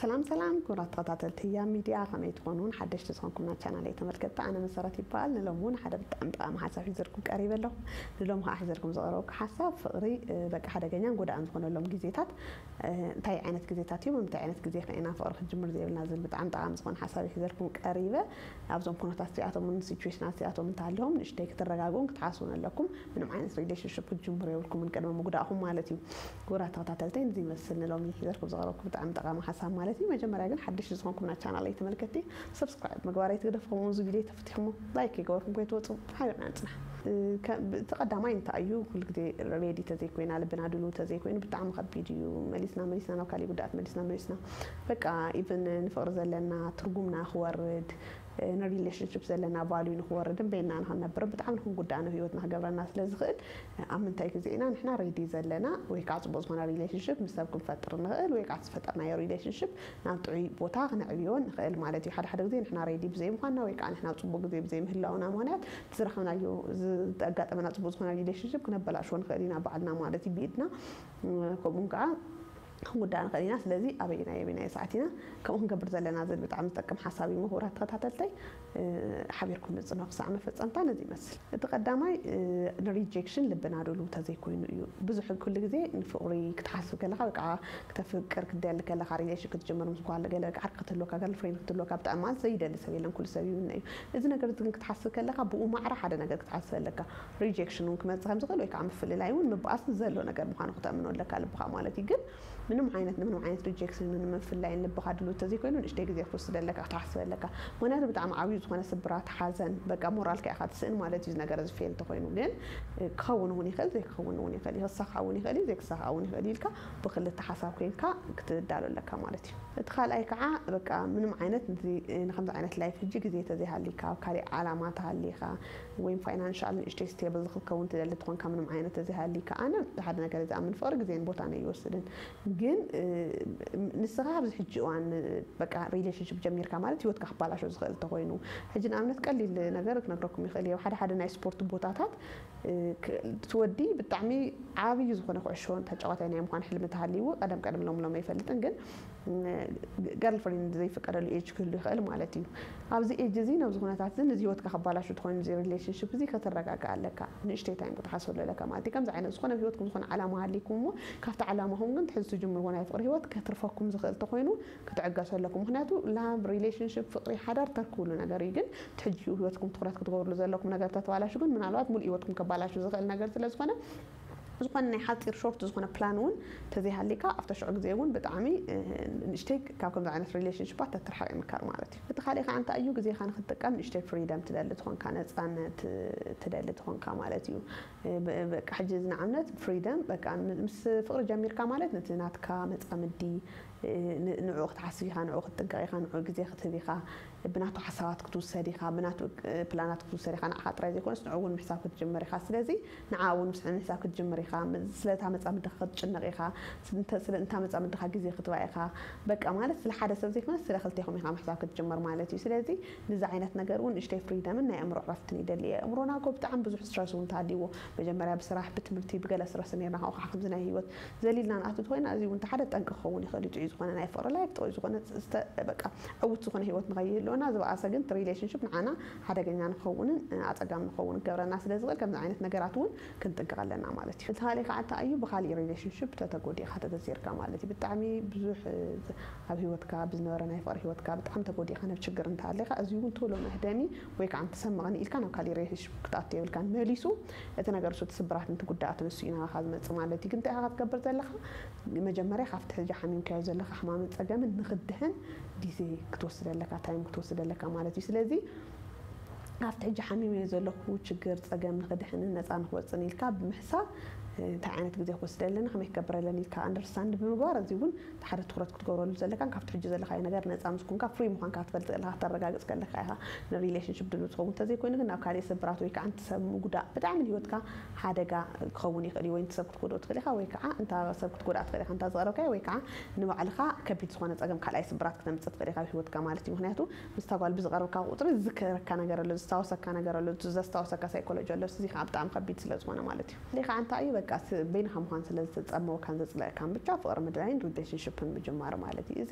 ሰላም ሰላም ክቡራት ተኸታተልቲ ህያብ ሚድያ፣ ከመይ ትኾኑን? ሓደሽቲ ዝኾንኩም ናብ ቻናለይ ተመልከትቲ፣ ኣነ መሰረት ይበሃል። ንሎሚ እውን ሓደ ብጣዕሚ ጠቓሚ ሓሳብ ሒዘልኩም ቀሪበ ኣለኹ። ንሎሚ ከዓ ሒዘልኩም ዝቐረብኩ ሓሳብ ፍቕሪ በቃ ሓደገኛን ጎዳእን ዝኾነሎም ግዜታት እንታይ ዓይነት ግዜታት እዮም፣ እንታይ ዓይነት ግዜ ከ ኢና ፍቕሪ ክጅምር ዘይብልና ዝብል ብጣዕሚ ጠቓሚ ዝኾነ ሓሳብ ሒዘልኩም ቀሪበ። ኣብዞም ኩነታት እዚኣቶም እውን ሲቹዌሽናት እዚኣቶም እንተሃልዮም ንእሽተይ ክትረጋግኡን ክትሓስቡን ኣለኩም። ምንም ዓይነት ሪሌሽንሽፕ ክትጅምሩ የብልኩምን ቅድሚ ምጉዳእኹም ማለት እዩ። ክቡራት ተኸታተልተይ፣ ንዚ ይመስል ንሎሚ ሒዘልኩም ዝቐረብኩ ብጣዕሚ ጠቓሚ ሓሳብ ማለት እዩ። መጀመርያ ግን ሓድሽ ዝኾንኩም ናብ ቻናለይ ተመልከትቲ ሰብስክራይብ ምግባር ኣይትግደፉ። ከምኡ እዚ ቪድዮ ተፈቲሕሞ ላይክ ይገበርኩም ከይትወፁ ሓቢርና ንፅናሕ። እቲ ቀዳማይ እንታይ እዩ? ኩሉ ግዜ ሬዲ ተዘይኮይና፣ ልብና ድሉ ተዘይኮይኑ ብጣዕሚ ከቢድ እዩ። መሊስና መሊስና ናብ ካሊእ ጉዳት መሊስና መሊስና በቃ ኢቨን ንፍቕሪ ዘለና ትርጉምና ክወርድ፣ ንሪሌሽንሽፕ ዘለና ቫልዩ ንክወርድን በይና ንክንነብርን ብጣዕሚ ንክንጉዳእ ንህይወትና ክገብረና ስለ ዝኽእል፣ ኣብ ምንታይ ግዜ ኢና ንሕና ሬዲ ዘለና? ወይ ከዓ ፅቡቅ ዝኾነ ሪሌሽንሽፕ ምስ ሰብ ክንፈጥር ንኽእል፣ ወይ ከዓ ዝፈጠርናዮ ሪሌሽንሽፕ ናብ ጥዑይ ቦታ ክነዕብዮ ንኽእል ማለት እዩ። ሓደ ሓደ ግዜ ንሕና ሬዲ ብዘይምዃንና ወይ ከዓ ንሕና ኣብ ፅቡቅ ግዜ ብዘይምህላውና ምኽንያት ዝረኸብናዮ፣ ዘጋጠመና ፅቡቅ ዝኾነ ሪሌሽንሽፕ ክነበላሽዎ ንኽእል ኢና ባዕልና ማለት እዩ ብኢድና። ከምኡ ከዓ ክንጉዳእ ንኽእል ኢና። ስለዚ ኣበይናይ ኣበይናይ ሰዓት ኢና ከምኡ ክንገብር ዘለና ዝብል ብጣዕሚ ዝጠቅም ሓሳብ እዩ። ምሁራት ተኸታተልተይ ሓቢርኩም ንፅኖ ክሳዕ መፈፀምታ ነዚ ይመስል። እቲ ቀዳማይ ንሪጀክሽን ልብና ድሉ ተዘይኮይኑ እዩ። ብዙሕ ኩሉ ግዜ ንፍቕሪ ክትሓስብ ከለኻ ወይ ከዓ ክተፍቅር ክትደሊ ከለኻ ሪሌሽን ክትጅምር ምስ ጓል ገለ ዓርኪ ክትህልወካ ገርልፍሬንድ ክትህልወካ ብጣዕሚ ማለት ዘይደሊ ሰብ የለን። ኩሉ ሰብ ይምነ እዩ። እዚ ነገር እዚ ግን ክትሓስብ ከለኻ ብኡ ማዕረ ሓደ ነገር ክትሓስብ ኣለካ። ሪጀክሽን እውን ክመፅእ ከም ዝኽእል ወይ ከዓ ምፍልላይ እውን ምብኣስን ዘሎ ነገር ምዃኑ ክተእምኖ ኣለካ ልብኻ ማለት እዩ። ግን ምንም ዓይነት ንምንም ዓይነት ሪጀክሽንን ምፍላይን ልብኻ ድሉ ተዘይኮይኑ ንእሽተይ ግዜ ክትወስድ ኣለካ ክትሓስብ ኣለካ። ምክንያቱ ብጣዕሚ ዓብዩ ዝኾነ ስብራት ሓዘን በቃ ሞራልካ ኢኻ ትስእን ማለት እዩ። እዚ ነገር እዚ ፌል ተኮይኑ ግን ክኸውን እውን ይኽእል ዘይክኸውን እውን ይኽእል እዩ። ክሳኻ እውን ይኽእል እዩ ዘይክሳኻ እውን ይኽእል እዩ ኢልካ ብክልተ ሓሳብ ኮይንካ ክትዳሎ ኣለካ ማለት እዩ። እቲ ካልኣይ ከዓ በቃ ምንም ዓይነት ንከምዚ ዓይነት ላይፍ ሕጂ ግዜ ተዘይሃሊካ ኣብ ካሊእ ዓላማ ተሃሊካ ወይም ፋይናንሻል ንእሽተይ ስቴብል ክትከውን ትደሊ ትኾንካ ምንም ዓይነት ተዘይሃሊካ ኣነ ሓደ ነገር ዝኣምን ፍቕሪ ግዜን ቦታን ኣይወስድን። ግን ንስኻ ኣብዚ ሕጂ እዋን በቃ ሪሌሽንሽፕ ጀሚርካ ማለት ህይወትካ ክባላሾ ዝኽእል እንተኮይኑ ሕጂ ንኣብነት ቀሊል ነገር ክነግረኩም ይኽእል እየ። ሓደ ሓደ ናይ ስፖርት ቦታታት እቲ ወዲ ብጣዕሚ ዓብዩ ዝኾነ ኩዕሾ ተጫዋታይ ናይ ምዃን ሕልሚ ተሃልይዎ ቀደም ቀደም ሎም ሎም ኣይፈልጥን ግን ገርልፍሬንድ ዘይፍቀደሉ ኤጅ ክህሉ ይኽእል ማለት እዩ። ኣብዚ ኤጅ እዚ ነብዚ ኩነታት እዚ ነዚ ህይወትካ ከባላሹ ተኮይኑ እዚ ሪሌሽንሽፕ እዚ ከተረጋጋ ኣለካ። ንእሽተይ ታይም ክትሓስበሉ ኣለካ ማለት እዩ። ከምዚ ዓይነት ዝኾነ ህይወትኩም ዝኾነ ዓላማ ሃሊኩም እሞ ካብቲ ዓላማኹም ግን ትሕዚ ትጅምርዎ ናይ ፍቅሪ ህይወት ከትርፈኩም ዝኽእል ተኮይኑ ክትዕገሱ ኣለኩም። ምክንያቱ ላብ ሪሌሽንሽፕ ፍቅሪ ሓዳር ተርክብሉ ነገር እዩ። ግን ትሕጂ ህይወትኩም ትኩረት ክትገብርሉ ዘለኩም ነገር ተተባላሹ ግን ምናልባት ሙሉእ ህይወትኩም ከባላሹ ዝኽእል ነገር ስለ ዝኾነ ዝኾነ ናይ ሓፂር ሾርት ዝኾነ ፕላን እውን ተዘይሃሊካ ኣብታ ሽዑ ግዜ እውን ብጣዕሚ ንእሽተይ ካብ ከምዚ ዓይነት ሪሌሽንሽፓት ተትርሓቅ ይምከር ማለት እዩ። እቲ ካሊእ ከዓ እንታይ እዩ ግዜካ ንክትጥቀም ንእሽተይ ፍሪደም ትደሊ ትኾንካ ነፃነት ትደሊ ትኾንካ ማለት እዩ። በቃ ሕጂ እዚ ንኣብነት ፍሪደም በቃ ምስ ፍቅሪ ጀሚርካ ማለት ነቲ ናትካ መፃምዲ ንዕኡ ክትሓስብ ኢኻ፣ ንዕኡ ክትጥንቀቕ ኢኻ፣ ንዕኡ ግዜ ክትህብ ኢኻ፣ ብናቱ ሓሳባት ክትውሰድ ኢኻ፣ ብናቱ ፕላናት ክትውሰድ ኢኻ። ንዓኻ ጥራይ ዘይኮነስ ንዕኡ እውን ምሕሳብ ክትጅምር ኢኻ። ስለዚ ንዓ እውን ምስ ምሕሳብ ክትጅምር ኢኻ። ስለታ መፃምድኻ ክትጭነቕ ኢኻ። ስለ እንታ መፃምድኻ ግዜ ክትባ ኢኻ። በቃ ማለት ስለ ሓደ ሰብ ዘይኮነስ ስለ ክልቴኹም ኢኻ ምሕሳብ ክትጅምር ማለት እዩ። ስለዚ ንዚ ዓይነት ነገር እውን ንእሽተይ ፍሪደምን ናይ ኣእምሮ ዕረፍትን ይደሊ። ኣእምሮና እኮ ብጣዕሚ ብዙሕ ስትረስ እውን ተሃልይዎ መጀመርያ ብስራሕ ብትምህርቲ ብገለ ስትረስ ነርና ካብኡ ከዓ ከምዚ ናይ ህይወት ዘሊልና ንኣቱ ተኮይና እዚ እውን ሓደ ጠንቂ ክኸውን ይኽእል እዩ። ጥዑይ ዝኾነ ናይ ፍቅሪ ላይፍ ጥዑይ ዝኾነ በቃ ዕውት ዝኾነ ህይወት ንኸይህልወና ዝበኣሰ ግን እቲ ሪሌሽንሽፕ ንዓና ሓደገኛ ንኸውንን ኣፀጋሚ ንኸውን ክገብረና ስለ ዝኽእል ከምዚ ዓይነት ነገራት እውን ክንጥንቀቕ ኣለና ማለት እዩ። እቲ ካሊእ ከዓ እንታይ እዩ ብካሊእ ሪሌሽንሽፕ ተተጎዲእካ ተተሲርካ ማለት እዩ። ብጣዕሚ ብዙሕ ኣብ ህይወትካ ብዝነበረ ናይ ፍቅሪ ህይወትካ ብጣዕሚ ተጎዲእካ ናብ ችግር እንተሃለካ እዚ እውን ቶሎ መህደሚ ወይ ከዓ እንተሰምቐኒ ኢልካ ናብ ካሊእ ሪሌሽንሽፕ ክትኣቱ የብልካን። መሊሱ እቲ ነገር እሱ እቲ ስብራት ንቲ ጉዳኣት ንሱ እዩ ናባኻ ዝመፅእ ማለት እዩ። ግን እንታይ ኢኻ ክትገብር ዘለካ? መጀመርያ ካብቲ ሕጂ ሓሚምካዮ ዘለካ ሕማምን ፀገምን ንክድሕን ግዜ ክትወስድ ኣለካ፣ ታይም ክትወስድ ኣለካ ማለት እዩ። ስለዚ ካብቲ ሕጂ ሓሚመዮ ዘለኹ ችግር ፀገም ንክድሕንን ነፃ ንክወፅን ኢልካ ብምሕሳብ እንታይ ዓይነት ግዜ ክወስድ ኣለኒ ከመይ ክገብር ኣለኒ ኢልካ ኣንደርስታንድ ብምግባር እዚ እውን ሓደ ትኩረት ክትገብረሉ ዘለካን ካብቲ ሕጂ ዘለካዮ ነገር ነፃ ምስ ኮንካ ፍሪ ምኳንካ ክትፈልጥ ከለካ ክተረጋግፅ ከለካ ኢካ ንሪሌሽንሽፕ ድሉ ትኸውን። እንተዘይኮይኑ ግን ናብ ካሊእ ስብራት ወይ ከዓ ንቲ ሰብ ምጉዳእ ብጣዕሚ ንህይወትካ ሓደጋ ክኸውን ይኽእል እዩ። ወይ ንቲ ሰብ ክትጎድኦ ትኽእል ኢካ ወይ ከዓ እንታ ሰብ ክትጎድኣ ትኽእል ኢካ እንታ ዝቐረብካዮ ወይ ከዓ ንባዕልካ ከቢድ ዝኾነ ፀገም ካልኣይ ስብራት ክተምፅእ ትኽእል ኢካ ኣብ ህይወትካ ማለት እዩ። ምክንያቱ ምስታ ጓል ብዝቐረብካ ቁፅሪ ዝዝከረካ ነገር ኣሎ፣ ዝስታወሰካ ነገር ኣሎ፣ ዘስታወሰካ ሳይኮሎጂ ኣሎ። እዚ ከዓ ብጣዕሚ ከቢድ ስለ ዝኾነ ማለት እዩ። ሌካ እንታይ እዩ በቃ ስ- በይንኻ ምዃን ስለ ዝተጸመወካን ዘጽለእካን ብቻ ፍቕሪ ምድላይን ሪሌሽንሽፕን ምጅማር ማለት እዩ። እዚ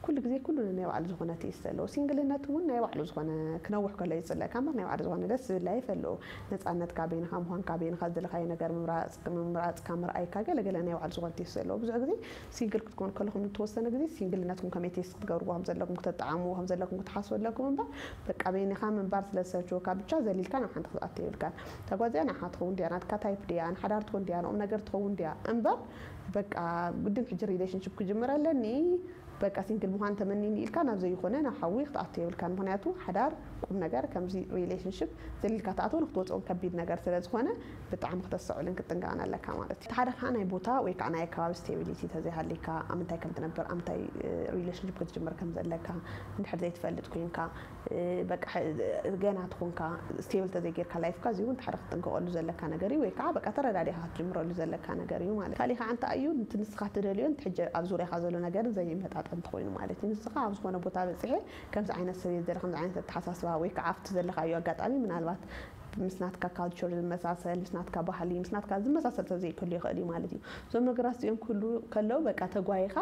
ኩሉ ግዜ ኩሉ ናይ ባዕሉ ዝኾነ ቴስት ኣለዎ። ሲንግልነት እውን ናይ ባዕሉ ዝኾነ ክነውሕ ከሎ ይጽለእካ እምበር ናይ ባዕሉ ዝኾነ ደስ ዝብል ላይፍ ኣለዎ። ነጻነትካ፣ በይንኻ ምዃንካ፣ በይንኻ ዝደለኻዮ ነገር ምምራጽ- ምምራጽካ፣ ምርኣይካ ገለ ገለ ናይ ባዕሉ ዝኾነ ቴስት ኣለዎ። ብዙሕ ግዜ ሲንግል ክትኮን ከለኹም ዝተወሰነ ግዜ ሲንግልነትኩም ከመይ ቴስት ክትገብርዎ ከም ዘለኩም፣ ክተጠዓምዎ ከም ዘለኩም ክትሓስቡ ኣለኩም እምበር በቃ በይንኻ ምንባር ስለ ዝሰልችወካ ብቻ ዘሊልካ ናብ ሓንቲ ክትኣቱ የብልካን። እታ ጓል እዚኣ ንዓኻ ትኸውን ድያ? ናትካ ታይፕ ድያ? ንሓዳር ትኾን ድያ? ንቁም ነገር ትኸውን ድያ? እምበር በቃ ግድን ሕጂ ሪሌሽንሽፕ ክጅምር ኣለኒ በቃ ሲንግል ምዃን ተመኒኒ ኢልካ ናብ ዘይኾነ ናብ ሓዊ ክትኣቱ የብልካን። ምኽንያቱ ሓዳር ቁም ነገር ከምዚ ሪሌሽንሽፕ ዘሊልካ ትኣትዎ ንክትወፅኦን ከቢድ ነገር ስለ ዝኾነ ብጣዕሚ ክተስተውዕልን ክትጥንቀቕን ኣለካ ማለት እዩ። እቲ ሓደ ከዓ ናይ ቦታ ወይ ከዓ ናይ ኣከባቢ ስቴቢሊቲ ተዘይሃልይካ ኣብ ምንታይ ከም ትነብር ኣብ ምንታይ ሪሌሽንሽፕ ክትጅምር ከም ዘለካ እንድሕር ዘይትፈልጥ ኮይንካ በቃ ገና ትኾንካ ስቴብል ተዘይጌርካ ላይፍካ እዚ እውን ሓደ ክትጥንቀቐሉ ዘለካ ነገር እዩ። ወይ ከዓ በቃ ተረዳዲኻ ክትጅምረሉ ዘለካ ነገር እዩ ማለት። ካሊእ ከዓ እንታይ እዩ እቲ ንስኻ ትደልዮን እቲ ሕጂ ኣብ ዙርያኻ ዘሎ ነገርን ዘይመጣጠን እንተኾይኑ ማለት እዩ። ንስኻ ኣብ ዝኾነ ቦታ በፂሐ ከምዚ ዓይነት ሰብ እየ ዝደሊ፣ ከምዚ ዓይነት ኣተሓሳስባ ወይ ከዓ ኣብቲ ዘለኻዮ ኣጋጣሚ ምናልባት ምስ ናትካ ካልቸር ዝመሳሰል ምስ ናትካ ባህሊ ምስ ናትካ ዝመሳሰል ሰብ ዘይክህሉ ይኽእል እዩ ማለት እዩ። እዞም ነገራት እዚኦም ክህሉ ከለዉ በቃ ተጓይኻ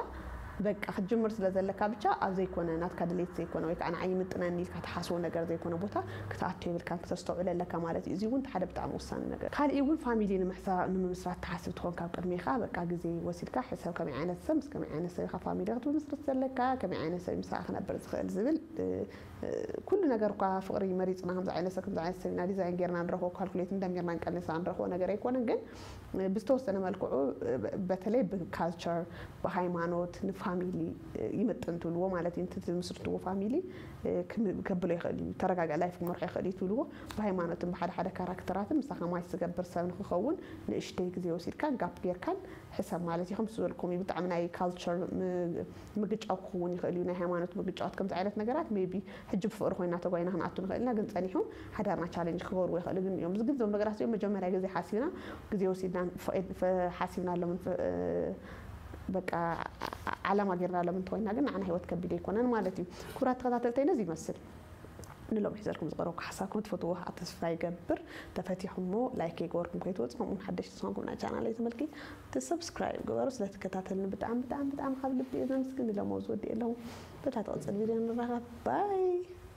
በቃ ክትጅምር ስለ ዘለካ ብቻ ኣብ ዘይኮነ ናትካ ድሌት ዘይኮነ ወይ ከዓ ንዓይ ይምጥነኒ ኢልካ ትሓስቦ ነገር ዘይኮነ ቦታ ክትኣቱ የብልካን፣ ክተስተውዕል ኣለካ ማለት እዩ። እዚ እውን ሓደ ብጣዕሚ ወሳኒ ነገር። ካሊእ እውን ፋሚሊ ንምሕሳ- ንምምስራት ትሓስብ ትኾን ካብ ቅድሜኻ በቃ ግዜ ወሲድካ ሕሰብ ከመይ ዓይነት ሰብ ምስ ከመይ ዓይነት ሰብ ኢኻ ፋሚሊ ክትምስርት ዘለካ፣ ከመይ ዓይነት ሰብ ምሳኻ ክነብር ዝኽእል ዝብል ኩሉ ነገር እኳ ፍቕሪ መሪፅና ከምዚ ዓይነት ሰብ ከምዚ ዓይነት ሰብ ኢና ዲዛይን ጌርና ንረኽቦ ካልኩሌት እንደሚርና እንቀንሳ ንረኽቦ ነገር ኣይኮነን። ግን ብዝተወሰነ መልክዑ በተለይ ብካልቸር ብሃይማኖት ንፋሚሊ ይምጥን ትብልዎ ማለት እዩ። እቲ ትምስርትዎ ፋሚሊ ከብሎ ይኽእል እዩ፣ ተረጋጋ ላይፍ ክመርሖ ይኽእል እዩ ትብልዎ። ብሃይማኖትን ብሓደ ሓደ ካራክተራትን ምሳኻ ማች ዝገብር ሰብ ንክኸውን ንእሽተይ ግዜ ወሲድካን ጋፕ ጌርካን ሕሰብ ማለት እዩ። ከምቲ ዝበልኩም እዩ ብጣዕሚ ናይ ካልቸር ምግጫው ክኸውን ይኽእል እዩ፣ ናይ ሃይማኖት ምግጫዋት ከምዚ ዓይነት ነገራት ሜቢ ሕጂ ብፍቕሪ ኮይና ተጓይና ክንኣቱ ንኽእል ኢና፣ ግን ጸኒሑ ሓዳርና ቻሌንጅ ክገብርዎ ይኽእሉ ግን እዮም። ግን እዞም ነገራት እዚኦም መጀመርያ ግዜ ሓሲብና ግዜ ወሲድና ሓሲብናሎምን በቃ ዓላማ ጌርናሎም እንተኮይና ግን ንዓና ህይወት ከቢድ ኣይኮነን ማለት እዩ። ክቡራት ተኸታተልተይ ነዚ ይመስል ንሎም ሒዘልኩም ዝቀረብኩ ሓሳብኩም ትፈትዎ ተስፋ ይገብር። ተፈቲኹሞ ላይክ ይገበርኩም ከይትወፁ፣ ከምኡውን ሓደሽቲ ዝኾንኩም ናይ ቻናለይ ተመልኪ ሰብስክራይብ ግበሩ። ስለትከታተልኒ ብጣዕሚ ብጣዕሚ ብጣዕሚ ካብ ልቢ እየ ዘመስግን። ንሎም ኣብዚ ወዲእ ኣለኹ። በታ ትቕፅል ቪድዮ ንራኸብ። ባይ።